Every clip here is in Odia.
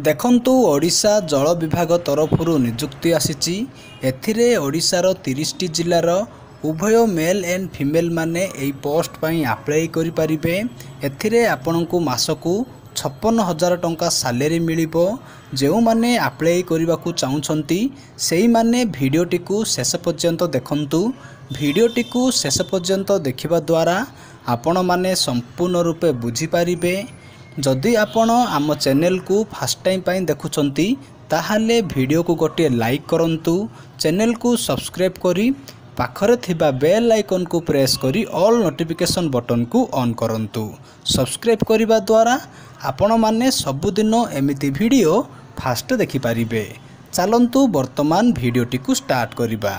ଦେଖନ୍ତୁ, ଓଡ଼ିଶା ଜଳ ବିଭାଗ ତରଫରୁ ନିଯୁକ୍ତି ଆସିଛି। ଏଥିରେ ଓଡ଼ିଶାର 30ଟି ଜିଲ୍ଲାର ଉଭୟ ମେଲ୍ ଆଣ୍ଡ ଫିମେଲ୍ ମାନେ ଏହି ପୋଷ୍ଟ ପାଇଁ ଆପ୍ଲାଏ କରିପାରିବେ। ଏଥିରେ ଆପଣଙ୍କୁ ମାସକୁ 56,000 ଟଙ୍କା ସାଲେରୀ ମିଳିବ। ଯେଉଁମାନେ ଆପ୍ଲାଏ କରିବାକୁ ଚାହୁଁଛନ୍ତି, ସେଇମାନେ ଭିଡ଼ିଓଟିକୁ ଶେଷ ପର୍ଯ୍ୟନ୍ତ ଦେଖନ୍ତୁ। ଭିଡ଼ିଓଟିକୁ ଶେଷ ପର୍ଯ୍ୟନ୍ତ ଦେଖିବା ଦ୍ୱାରା ଆପଣମାନେ ସମ୍ପୂର୍ଣ୍ଣ ରୂପେ ବୁଝିପାରିବେ। ଯଦି ଆପଣ ଆମ ଚ୍ୟାନେଲକୁ ଫାଷ୍ଟ ଟାଇମ୍ ପାଇଁ ଦେଖୁଛନ୍ତି, ତାହେଲେ ଭିଡ଼ିଓକୁ ଗୋଟିଏ ଲାଇକ୍ କରନ୍ତୁ। ଚ୍ୟାନେଲକୁ ସବସ୍କ୍ରାଇବ୍ କରି ପାଖରେ ଥିବା ବେଲ୍ ଆଇକନ୍କୁ ପ୍ରେସ୍ କରି ଅଲ୍ ନୋଟିଫିକେସନ୍ ବଟନ୍କୁ ଅନ୍ କରନ୍ତୁ। ସବସ୍କ୍ରାଇବ୍ କରିବା ଦ୍ୱାରା ଆପଣମାନେ ସବୁଦିନ ଏମିତି ଭିଡ଼ିଓ ଫାଷ୍ଟ ଦେଖିପାରିବେ। ଚାଲନ୍ତୁ, ବର୍ତ୍ତମାନ ଭିଡ଼ିଓଟିକୁ ଷ୍ଟାର୍ଟ କରିବା।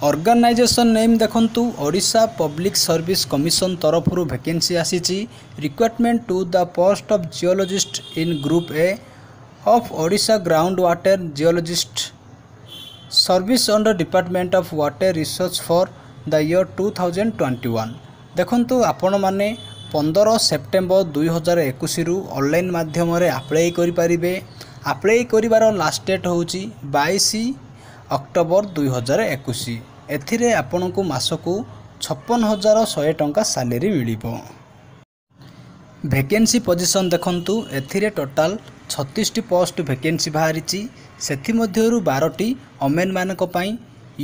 ଅର୍ଗାନାଇଜେସନ୍ ନେମ୍ ଦେଖନ୍ତୁ, ଓଡ଼ିଶା ପବ୍ଲିକ୍ ସର୍ଭିସ୍ କମିଶନ ତରଫରୁ ଭ୍ୟାକେନ୍ସି ଆସିଛି। Recruitment to the post of Geologist in Group A of Odisha Ground Water Geologist Service under Department of Water Resource for the year 2021. ଦେଖନ୍ତୁ, ଆପଣମାନେ 15 ସେପ୍ଟେମ୍ବର 2021ରୁ ଅନଲାଇନ୍ ମାଧ୍ୟମରେ ଆପ୍ଲାଏ କରିପାରିବେ। ଆପ୍ଲାଏ କରିବାର ଲାଷ୍ଟ ଡେଟ୍ ହେଉଛି 22 ଅକ୍ଟୋବର 2021। ଏଥିରେ ଆପଣଙ୍କୁ ମାସକୁ 56,100 ଟଙ୍କା ସାଲେରୀ ମିଳିବ। ଭେକେନ୍ସି ପୋଜିସନ୍ ଦେଖନ୍ତୁ, ଏଥିରେ ଟୋଟାଲ୍ 36ଟି ପୋଷ୍ଟ ଭେକେନ୍ସି ବାହାରିଛି। ସେଥିମଧ୍ୟରୁ 12ଟି ଓମେନ୍ମାନଙ୍କ ପାଇଁ।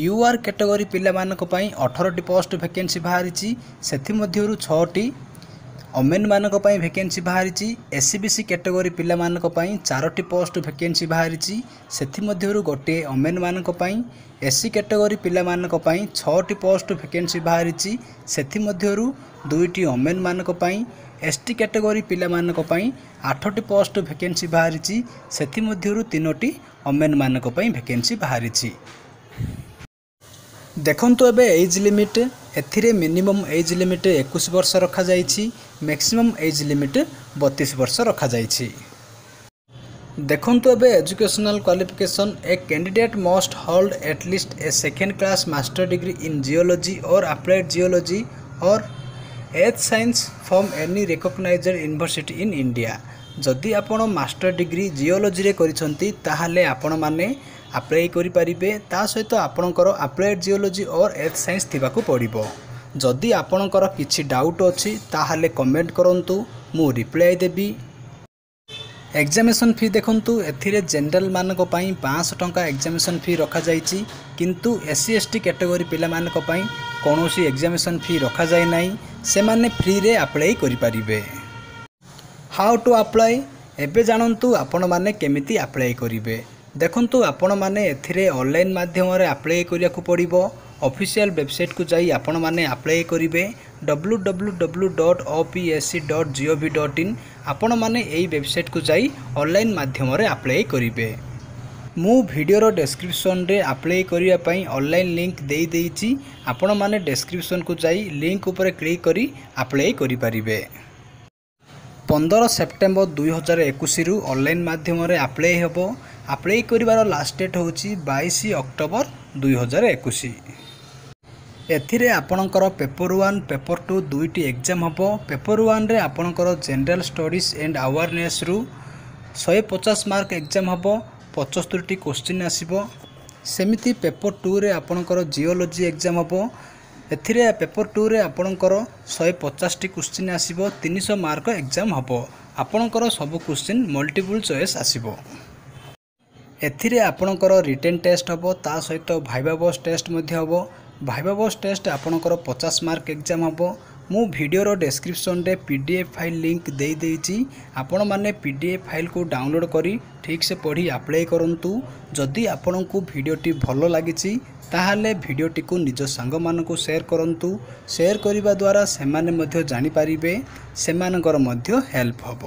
You R category ପିଲାମାନଙ୍କ ପାଇଁ 18ଟି ପୋଷ୍ଟ ଭେକେନ୍ସି ବାହାରିଛି। ସେଥିମଧ୍ୟରୁ 6ଟି ଓମେନ୍ମାନଙ୍କ ପାଇଁ ଭେକେନ୍ସି ବାହାରିଛି। S E B C category ପିଲାମାନଙ୍କ ପାଇଁ 4ଟି ପୋଷ୍ଟ ଭେକେନ୍ସି ବାହାରିଛି। ସେଥିମଧ୍ୟରୁ ଗୋଟିଏ ଓମେନ୍ମାନଙ୍କ ପାଇଁ। ଏସ୍ ସି କ୍ୟାଟେଗୋରୀ ପିଲାମାନଙ୍କ ପାଇଁ 6ଟି ପୋଷ୍ଟ ଭେକେନ୍ସି ବାହାରିଛି। ସେଥିମଧ୍ୟରୁ 2ଟି ଓମେନ୍ମାନଙ୍କ ପାଇଁ। ଏସ୍ ଟି କ୍ୟାଟେଗୋରୀ ପିଲାମାନଙ୍କ ପାଇଁ 8ଟି ପୋଷ୍ଟ ଭେକେନ୍ସି ବାହାରିଛି। ସେଥିମଧ୍ୟରୁ 3ଟି ଓମେନ୍ମାନଙ୍କ ପାଇଁ ଭେକେନ୍ସି ବାହାରିଛି। ଦେଖନ୍ତୁ ଏବେ ଏଜ୍ ଲିମିଟ୍। ଏଥିରେ ମିନିମମ୍ ଏଜ୍ ଲିମିଟ୍ 21 ବର୍ଷ ରଖାଯାଇଛି, ମ୍ୟାକ୍ସିମମ୍ ଏଜ୍ ଲିମିଟ୍ 32 ବର୍ଷ ରଖାଯାଇଛି। ଦେଖନ୍ତୁ ଏବେ educational qualification. A candidate must hold at least a second class master degree in geology or applied geology or earth science from any recognized university in India. ଯଦି ଆପଣ ମାଷ୍ଟର ଡିଗ୍ରୀ ଜିଓଲୋଜିରେ କରିଛନ୍ତି, ତାହେଲେ ଆପଣମାନେ ଆପ୍ଲାଏ କରିପାରିବେ। ତା ସହିତ ଆପଣଙ୍କର applied geology or earth science ଥିବାକୁ ପଡ଼ିବ। ଯଦି ଆପଣଙ୍କର କିଛି ଡାଉଟ୍ ଅଛି, ତାହେଲେ କମେଣ୍ଟ କରନ୍ତୁ, ମୁଁ ରିପ୍ଲାଏ ଦେବି। ଏକ୍ଜାମିନେସନ୍ ଫି ଦେଖନ୍ତୁ, ଏଥିରେ ଜେନେରାଲମାନଙ୍କ ପାଇଁ 500 ଟଙ୍କା ଏକ୍ଜାମିନେସନ୍ ଫି ରଖାଯାଇଛି। କିନ୍ତୁ S C, S T category ପିଲାମାନଙ୍କ ପାଇଁ କୌଣସି ଏକ୍ଜାମିନେସନ୍ ଫି ରଖାଯାଇ ନାହିଁ। ସେମାନେ ଫ୍ରିରେ ଆପ୍ଲାଏ କରିପାରିବେ। How to apply? ଏବେ ଜାଣନ୍ତୁ ଆପଣମାନେ କେମିତି ଆପ୍ଲାଏ କରିବେ। ଦେଖନ୍ତୁ, ଆପଣମାନେ ଏଥିରେ ଅନଲାଇନ୍ ମାଧ୍ୟମରେ ଆପ୍ଲାଏ କରିବାକୁ ପଡ଼ିବ। ଅଫିସିଆଲ୍ ୱେବସାଇଟ୍କୁ ଯାଇ ଆପଣମାନେ ଆପ୍ଲାଏ କରିବେ। www.opsc.gov.in। ଆପଣମାନେ ଏହି ୱେବସାଇଟ୍କୁ ଯାଇ ଅନଲାଇନ୍ ମାଧ୍ୟମରେ ଆପ୍ଲାଏ କରିବେ। ମୁଁ ଭିଡ଼ିଓର ଡେସ୍କ୍ରିପସନ୍ରେ ଆପ୍ଲାଏ କରିବା ପାଇଁ ଅନଲାଇନ୍ ଲିଙ୍କ୍ ଦେଇଦେଇଛି। ଆପଣମାନେ ଡେସ୍କ୍ରିପସନ୍କୁ ଯାଇ ଲିଙ୍କ୍ ଉପରେ କ୍ଲିକ୍ କରି ଆପ୍ଲାଏ କରିପାରିବେ। 15 ସେପ୍ଟେମ୍ବର 2021ରୁ ଅନଲାଇନ୍ ମାଧ୍ୟମରେ ଆପ୍ଲାଏ ହେବ। ଆପ୍ଲାଏ କରିବାର ଲାଷ୍ଟ ଡେଟ୍ ହେଉଛି 22 ଅକ୍ଟୋବର 2021। ଏଥିରେ ଆପଣଙ୍କର ପେପର୍ 1, ପେପର୍ 2 ଦୁଇଟି ଏକ୍ଜାମ୍ ହେବ। ପେପର୍ 1ରେ ଆପଣଙ୍କର ଜେନେରାଲ୍ ଷ୍ଟଡ଼ିଜ୍ ଆଣ୍ଡ ଆୱାରନେସ୍ରୁ 150 ମାର୍କ ଏକ୍ଜାମ୍ ହେବ, 75ଟି କୋଶ୍ଚିନ୍ ଆସିବ। ସେମିତି ପେପର୍ 2ରେ ଆପଣଙ୍କର ଜିଓଲୋଜି ଏକ୍ଜାମ୍ ହେବ। ଏଥିରେ ପେପର୍ 2ରେ ଆପଣଙ୍କର 150ଟି କୋଶ୍ଚିନ୍ ଆସିବ, 300 ମାର୍କ ଏକ୍ଜାମ୍ ହେବ। ଆପଣଙ୍କର ସବୁ କୋଶ୍ଚିନ୍ ମଲ୍ଟିପୁଲ୍ ଚଏସ୍ ଆସିବ। ଏଥିରେ ଆପଣଙ୍କର ରିଟେନ୍ ଟେଷ୍ଟ ହେବ, ତା ସହିତ ଭାଇବା ଭୋସ୍ ଟେଷ୍ଟ ମଧ୍ୟ ହେବ। ଭାଇବା ଭୋସ୍ ଟେଷ୍ଟ ଆପଣଙ୍କର 50 ମାର୍କ ଏକ୍ଜାମ୍ ହେବ। ମୁଁ ଭିଡ଼ିଓର ଡେସ୍କ୍ରିପସନ୍ରେ ପିଡିଏଫ୍ ଫାଇଲ୍ ଲିଙ୍କ୍ ଦେଇଦେଇଛି। ଆପଣମାନେ ପିଡିଏଫ୍ ଫାଇଲ୍କୁ ଡାଉନଲୋଡ଼୍ କରି ଠିକ୍ସେ ପଢ଼ି ଆପ୍ଲାଏ କରନ୍ତୁ। ଯଦି ଆପଣଙ୍କୁ ଭିଡ଼ିଓଟି ଭଲ ଲାଗିଛି, ତାହେଲେ ଭିଡ଼ିଓଟିକୁ ନିଜ ସାଙ୍ଗମାନଙ୍କୁ ସେୟାର କରନ୍ତୁ। ସେୟାର କରିବା ଦ୍ୱାରା ସେମାନେ ମଧ୍ୟ ଜାଣିପାରିବେ, ସେମାନଙ୍କର ମଧ୍ୟ ହେଲ୍ପ ହେବ।